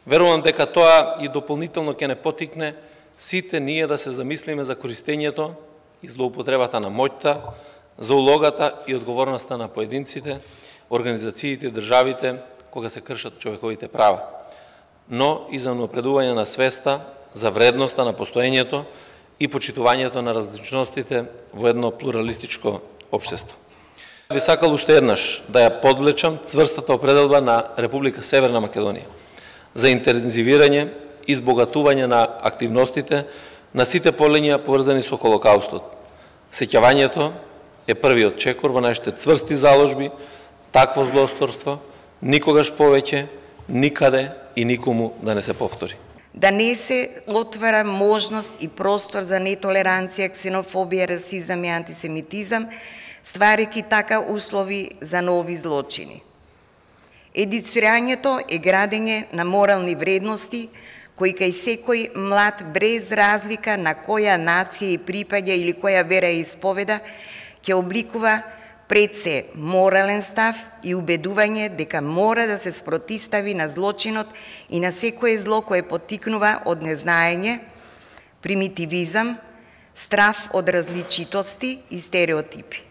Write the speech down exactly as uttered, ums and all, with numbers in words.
Верувам дека тоа и дополнително ќе не потикне сите ние да се замислиме за користењето и злоупотребата на моќта, за улогата и одговорноста на поединците, организациите и државите кога се кршат човековите права, но и за напредување на свеста за вредноста на постоењето и почитувањето на различностите во едно плуралистичко општество. Би сакал уште еднаш да ја подлечам цврстата определба на Република Северна Македонија за интензивирање и збогатување на активностите на сите полиња поврзани со Холокаустот. Сеќавањето е првиот чекор во нашите цврсти заложби, такво злосторство никогаш повеќе, никаде и никому да не се повтори. Да не се отвара можност и простор за нетолеранција, ксенофобија, расизам и антисемитизам, стварајќи така услови за нови злочини. Едуцирањето е градење на морални вредности, кои кај секој млад, без разлика на која нација и припаѓа или која вера исповеда, ќе обликува пред се морален став и убедување дека мора да се спротистави на злочинот и на секое зло кое поттикнува од незнаење, примитивизам, страв од различитости и стереотипи.